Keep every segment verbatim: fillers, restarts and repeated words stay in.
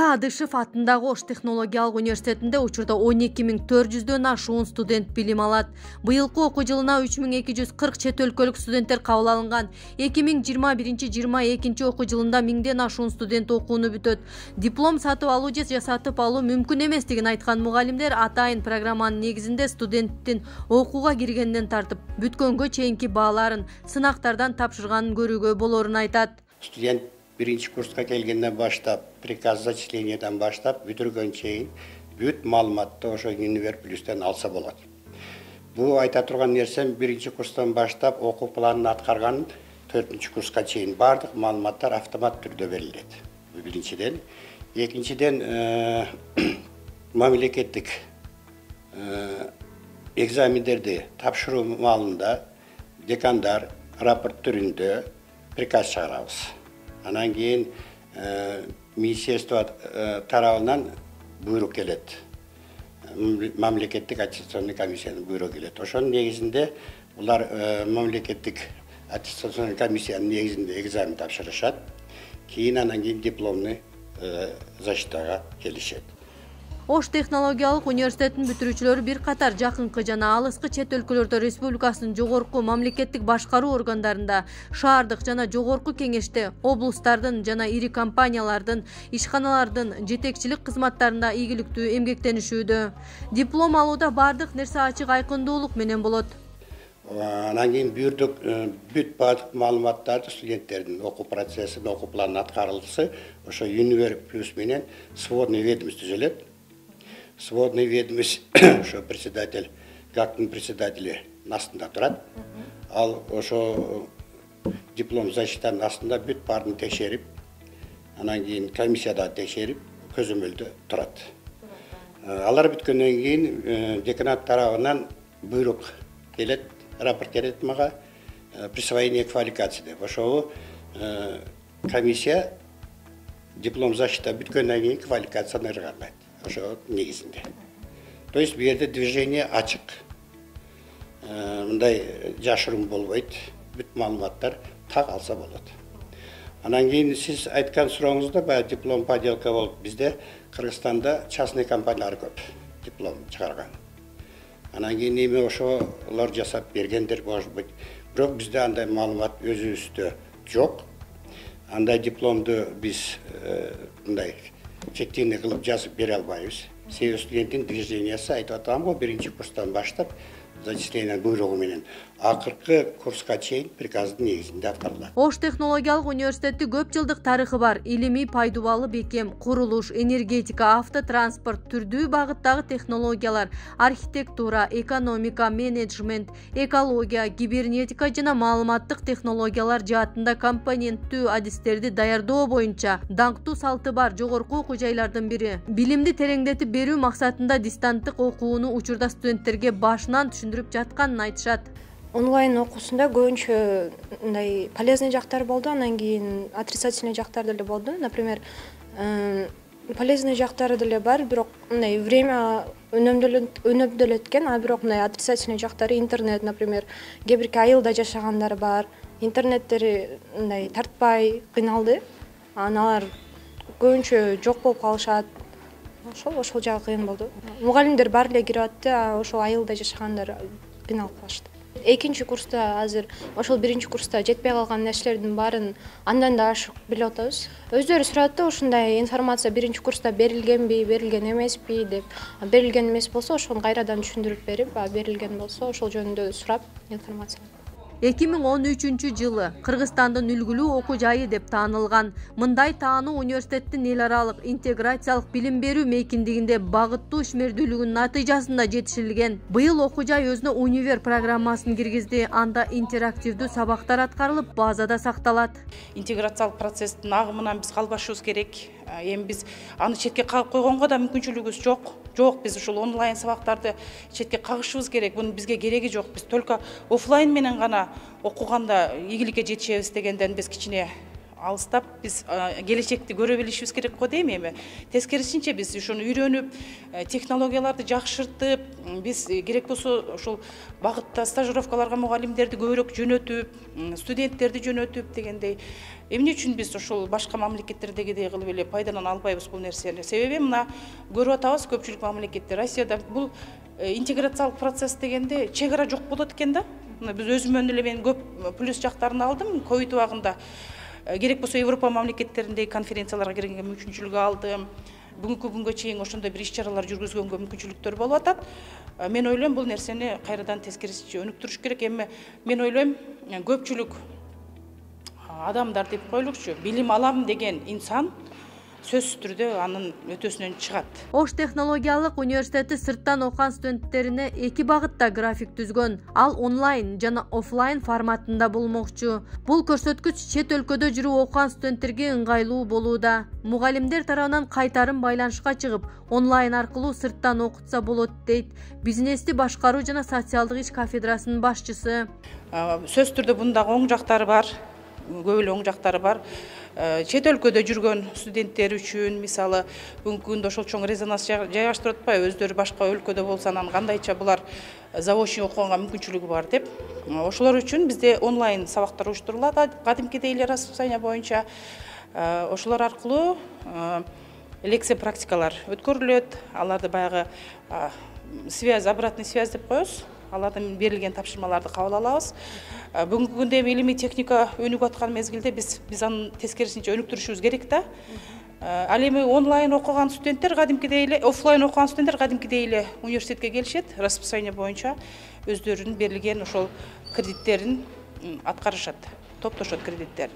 Илья Адышев атындагы Ош технологиялык университетинде учурда он эки миң төрт жүздөн ашуун студент билим алат. Быйылкы окуу жылына үч миң эки жүз кырк чет өлкөлүк студенттер кабыл алынган. эки миң жыйырма биринчи жыйырма экинчи окуу жылында миңден ашуун студент окууну бүтөт. Диплом сатып алуу же жасатып алуу мүмкүн эместигин айткан мугалимдер атайын программанын негизинде студенттин окууга киргенден тартып бүткөнгө чейинки бааларын сынактардан тапшырганын көрүүгө болорун айтат. Студент биринчи курска келгенден баштап, приказ зачислениядан баштап бүтүргөн чейин бүт маалыматты ошо Универ плюстан алса болот. Бул айта турган нерсем биринчи курстан баштап окуу планын аткарган төртүнчү курска чейин бардык маалыматтар автомат түрдө берилет. Биринчиден, экинчиден мамлекеттик экзамендерди тапшыруу маалында декандар рапорт түрүндө приказ чыгарабыз. Анан кийин министерство тарабынан буйрук келет. Мамлекеттик аттестационный комиссиянын буйругу келет. Ошонун негизинде булар мамлекеттик аттестационный комиссиянын негизинде экзамен тапшырышат. Кийин анан кийин дипломный защитага келишет. Ош технологиялык университетинин бүтүрүүчүлөрү бир катар жакынкы жана алыскы чет өлкөлөрдө республикасынын жогорку мамлекеттик башкаруу органдарында, шаардык жана жогорку кеңеште, облустардын жана ири компаниялардын, ишканалардын жетекчилик кызматтарында ийгиликтүү эмгектенишүүдө. Диплом алууда бардык нерсе ачык айкындуулук менен болот. Анан кийин бирдик бүт бардык маалыматтарды студенттердин окуу процессин, окуу планын аткарылысы ошо Универ плюс менен сводный ведомость түзүлөт. Сводный ведомость, ошо председатель, ГАКтын председатели астында турат. Ал ошо диплом защитанын астында бүт баарын текшерип, анан кийин комиссияда текшерип, көзөмөлдө турат. Алар бүткөндөн кийин деканат тарабынан буйрук келет, рапорт келет мага, присвоение квалификации деп. Ошол комиссия диплом защита бүткөндөн кийин квалификацияны ыргарлайт. Ошо негизинде. То есть бу жерде движение ачык. Мындай жашыруун болбойт. Бүт маалыматтар так алса болот. Анан кийин сиз айткан сурооңузда баягы диплом поделка болуп, бизде Кыргызстанда частный компаниялар көп диплом чыгарган. Анан кийин эми ошолор жасап бергендер может быть. Бирок бизде андай маалымат өзүбүздө жок. Андай дипломду биз мындай фиктивный кылып жазып бере албайбыз. Себеби студенттин движениясы айтып атам го, биринчи курстан баштап зачисление буйругу менен акыркы курска чейин приказдын негизинде аткарылат. Ош технологиялык университети көп жылдык тарыхы бар. Илимий пайдубалы бекем, курулуш, энергетика, автотранспорт, түрдүү багыттагы технологиялар, архитектура, экономика, менеджмент, экология, кибернетика жана маалыматтык технологиялар жаатында компоненттүү адистерди даярдоо боюнча даңктуу салты бар жогорку окуу жайлардын бири. Билимди тереңдетип берүү максатында дистанттык окууну учурда студенттерге башынан түшүндүрүп жатканын айтышат. Онлайн окуусунда көбүнчө мындай полезный жактары болду, анан кийин отрицательный жактары деле болду. Например, полезный жактары деле бар, бирок мындай время өнөмдөлөт экен, а бирок мындай отрицательный жактары интернет, например, кээ бирки айылда жашагандар бар. Интернеттери мындай тартпай кыйналды. Аналар көбүнчө жок болуп калышат. Ошол ошол жагы кыйын болду. Мугалимдер баары эле кирип атты, а ошол айылда жашагандар кыйналып калышты. Экинчи курста азыр ошол биринчи курста жетпей калган нерселердин баарын андан да ашык билип атабыз. Өздөрү сурат да ушундай информация биринчи курста берилгенби, берилген эмеспи деп. Берилген эмес болсо ошону кайрадан түшүндүрүп берип, а берилген болсо ошол жөнүндө сурап информация. эки миң он үчүнчү жылы Кыргызстандын үлгүлүү окуу жайы деп таанылган. Мындай таануу университеттин эл аралык интеграциялык билим берүү мейкиндигинде багыттуу ишмердүүлүгүнүн натыйжасында жетишилген. Быйыл окуу жай өзүнө универ программасын киргизди. Анда интерактивдүү сабактар аткарылып, базада сакталат. Интеграциялык процесстин агымынан биз калбашыбыз керек. Эми биз аны четке кагып койгонго да мүмкүнчүлүгүбүз жок. Жок, биз ушул онлайн сабактарды четке кагышыбыз керек. Бунун бизге кереги жок. Биз только офлайн менен гана окуганда ийгиликке жетишебиз дегенден биз кичине алыстап биз келечекти көрө билишибиз керек го дейм. Эми тескерисинче биз ушуну үйрөнүп, технологияларды жакшыртып, биз керек болсо ушул багытта стажировкаларга мугалимдерди көбүрөөк жөнөтүп, студенттерди жөнөтүп дегендей. Эмне үчүн биз ушул башка мамлекеттердегидей кылып эле пайдалана албайбыз бул нерсени? Себеби мына көрүп атабыз, көпчүлүк мамлекеттер Россияда бул интеграциялык процесс дегенде чек ара жок болот экен да. Биз өзүмөн эле мен көп плюс жактарын алдым. ковид убагында керек болсо Европа мамлекеттериндеги конференцияларга киргенге мүмкүнчүлүк алдым. Бүгүнкү күнгө чейин ошондой бир иш-чаралар жүргүзгөнгө мүмкүнчүлүктөр болуп атат. Мен ойлойм бул нерсени кайрадан тескерисинче өнүктүрүш керек. Эми мен ойлойм көпчүлүк адамдар деп коелучу, билим алам деген инсан сөзсүз түрдө анын өтөсүнөн чыгат. Ош технологиялык университети сырттан окуган студенттерине эки багытта график түзгөн. Ал онлайн жана офлайн форматында болмокчу. Бул көрсөткүч чет өлкөдө жүрүп окуган студенттерге ыңгайлуу болууда. Мугалимдер тарабынан кайтарым байланышка чыгып, онлайн аркылуу сырттан окутса болот дейт бизнести башкаруу жана социалдык иш кафедрасынын башчысы. Сөзсүз түрдө бундагы оң жактары бар. Көп эле оң жактары бар. Чет өлкөдө жүргөн студенттер үчүн, мисалы, бүгүнкү күндө ошол чоң резонанс жайгаштырып атпайбы, өздөрү башка өлкөдө болсо анан кандайча булар заочный окуганга мүмкүнчүлүгү бар деп. Ошолор үчүн бизде онлайн сабактар уюштурулат, кадимкидей эле расписание боюнча. Ошолор аркылуу лекция практикалар өткөрүлөт. Аларды баягы связь, обратный связь деп коебуз. Алардан берилген тапшырмаларды кабыл алабыз. Бүгүнкү күндө илимий техника өнүгүп аткан мезгилде биз биз аны тескерисинче өнүктүрүшүбүз керек да. Ал эми онлайн окуган студенттер кадимкидей эле, офлайн окуган студенттер кадимкидей эле университетке келишет, расписание боюнча өздөрүнүн берилген ошол кредиттерин аткарышат, топтошот кредиттерин.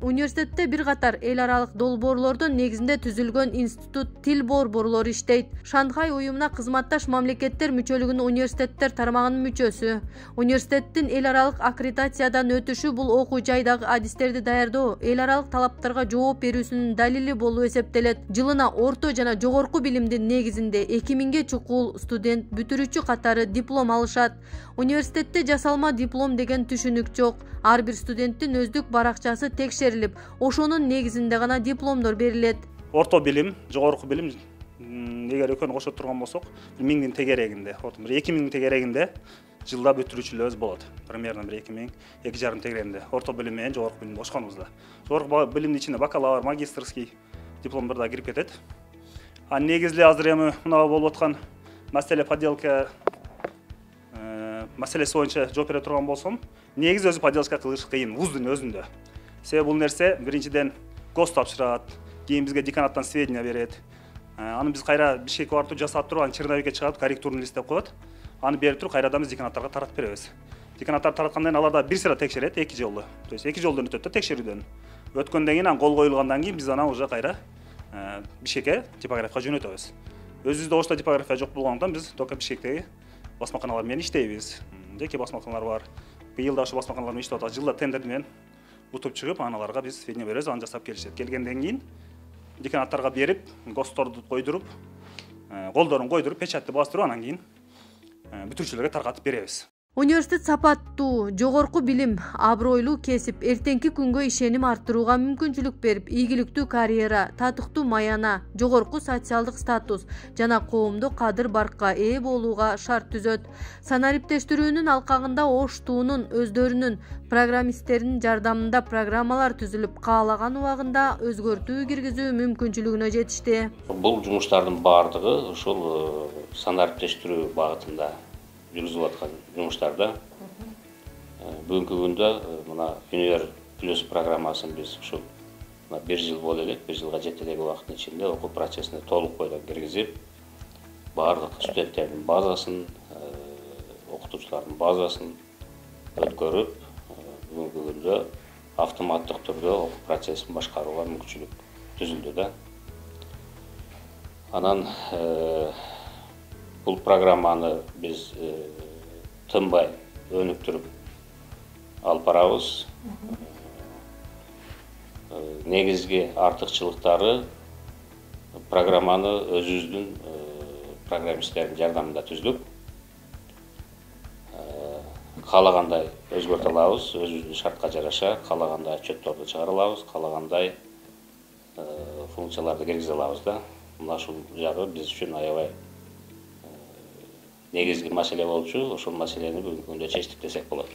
Университетте бир катар эл аралык долбоорлордун негизинде түзүлгөн институт тил борборлору иштейт. Шанхай уюмуна кызматташ мамлекеттер мүчөлүгүнүн университеттер тармагынын мүчөсү. Университеттин эл аралык аккредитациядан өтүшү бул окуу жайдагы адистерди даярдоо, эл аралык талаптарга жооп берүүсүнүн далили болуп эсептелет. Жылына орто жана жогорку билимдин негизинде эки миңге чукул студент бүтүрүүчү катары диплом алышат. Университетте жасалма диплом деген түшүнүк жок. Ар бир студенттин өздүк баракчасы текшерилип, ошонун негизинде гана дипломдор берилет. Орто билим, жогорку билим эгер экөөнү кошо турган болсок, миңдин тегерегинде, бир эки миңдин тегерегинде жылда бүтүрүүчүлөрүбүз болот. Примерно бир эки миң, эки жарым тегерегинде орто билим менен жогорку билимди кошконубузда. Жогорку билимдин ичине бакалавр, магистрский дипломдор да кирип кетет. А негизли азыр эми мына болуп аткан маселе поделка маселеси боюнча жооп бере турган болсом, негизи өзү поделка кылыш кыйын вуздун өзүндө. Себеби бул нерсе биринчиден гос тапшырат, кийин бизге деканаттан сведения берет. Аны биз кайра бишкекке барып жасап туруп, аны черновикке чыгарып, корректурный лист деп коет. Аны берип туруп, кайрадан биз деканаттарга таратып беребиз. Деканаттар тараткандан кийин аларда бир сыйра текшерет, эки жолду. То есть эки жолдон өтөт да текшерүүдөн. Өткөндөн кийин аны кол коюлгандан кийин биз аны уже кайра Бишкекке типографияга жөнөтөбүз. Өзүбүздө Ошто типография жок болгондон биз только Бишкектеги басмаканалар менен иштейбиз. Жеке басмаканалар бар. Быйыл да ошо басмаканалар менен иштеп атабыз. Жылда тендер менен утуп чыгып, аналарга биз сведения беребиз, аны жасап келишет. Келгенден кийин деканаттарга берип, госторду койдуруп, колдорун койдуруп, печатты бастырып, анан кийин бүтүрүүчүлөргө таркатып беребиз. Университет сапаттуу, жогорку билим, абройлуу кесип, эртеңки күнгө ишеним арттырууга мүмкүнчүлүк берип, ийгиликтүү карьера, татыктуу маяна, жогорку социалдык статус жана коомдук кадыр-баркка ээ болууга шарт түзөт. Санариптештирүүнүн алкагында Ош туунун өздөрүнүн программисттеринин жардамында программалар түзүлүп, каалаган убагында өзгөртүү киргизүү мүмкүнчүлүгүнө жетишти. Бул жумуштардын баардыгы ушул санариптештирүү багытында жүргүзүп аткан жумуштарда. Бүгүнкү күндө мына Универ плюс программасын биз ушул бир жыл боло элек, бир жылга жете элек убакыттын ичинде окуу процессине толук бойдон киргизип, баардык студенттердин базасын, окутуучулардын базасын өткөрүп, бүгүнкү күндө автоматтык түрдө окуу процессин башкарууга мүмкүнчүлүк түзүлдү да. Анан бул программаны биз тынбай өнүктүрүп алып барабыз. Негизги артыкчылыктары программаны өзүбүздүн программисттердин жардамында түздүк. каалагандай өзгөртө алабыз, өзүбүздүн шартка жараша каалагандай отчетторду чыгара алабыз, каалагандай функцияларды киргизе алабыз да. Мына ушул жагы биз үчүн аябай негизги маселе болчу. Ошол маселени бүгүнкү күндө чечтик десек болот.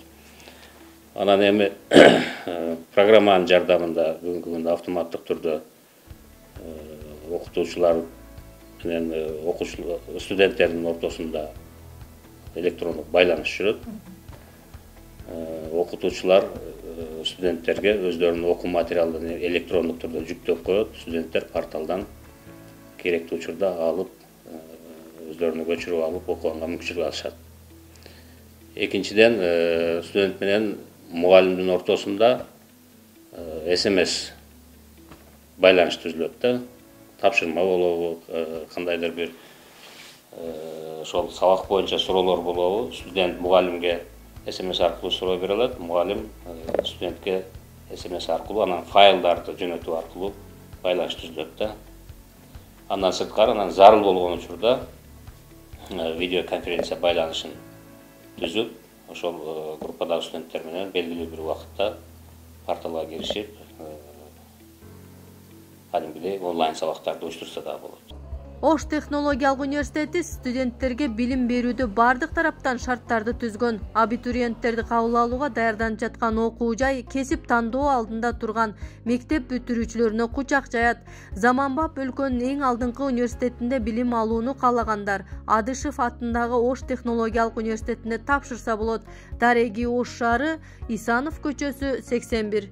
Анан эми программанын жардамында бүгүнкү күндө автоматтык түрдө окутуучулар менен окуучулар, студенттердин ортосунда электрондук байланыш жүрөт. Окутуучулар студенттерге өздөрүнүн окуу материалдарын электрондук түрдө жүктөп коет. Студенттер порталдан керектүү учурда алып, өздөрүнө көчүрүп алып окуганга мүмкүнчүлүк алышат. Экинчиден, студент менен мугалимдин ортосунда эс эм эс байланыш түзүлөт да. Тапшырма болобу, кандайдыр бир ошол сабак боюнча суроолор болобу, студент мугалимге эс эм эс аркылуу суроо бере алат, мугалим студентке эс эм эс аркылуу, анан файлдарды жөнөтүү аркылуу байланыш түзүлөт да. Андан сырткары, анан зарыл болгон учурда видеоконференция байланышын түзүп, ошол группадагы студенттер менен белгилүү бир убакытта порталга киришип, кадимгидей онлайн сабактарды уюштурса да болот. Ош технологиялык университети студенттерге билим берүүдө бардык тараптан шарттарды түзгөн. Абитуриенттерди кабыл алууга даярданып жаткан окуу жай кесип тандоо алдында турган мектеп бүтүрүүчүлөрүнө кучак жаят. Заманбап өлкөнүн эң алдыңкы университетинде билим алууну каалагандар Адышев атындагы Ош технологиялык университетинде тапшырса болот. Дареги Ош шаары, Исанов көчөсү сексен бир.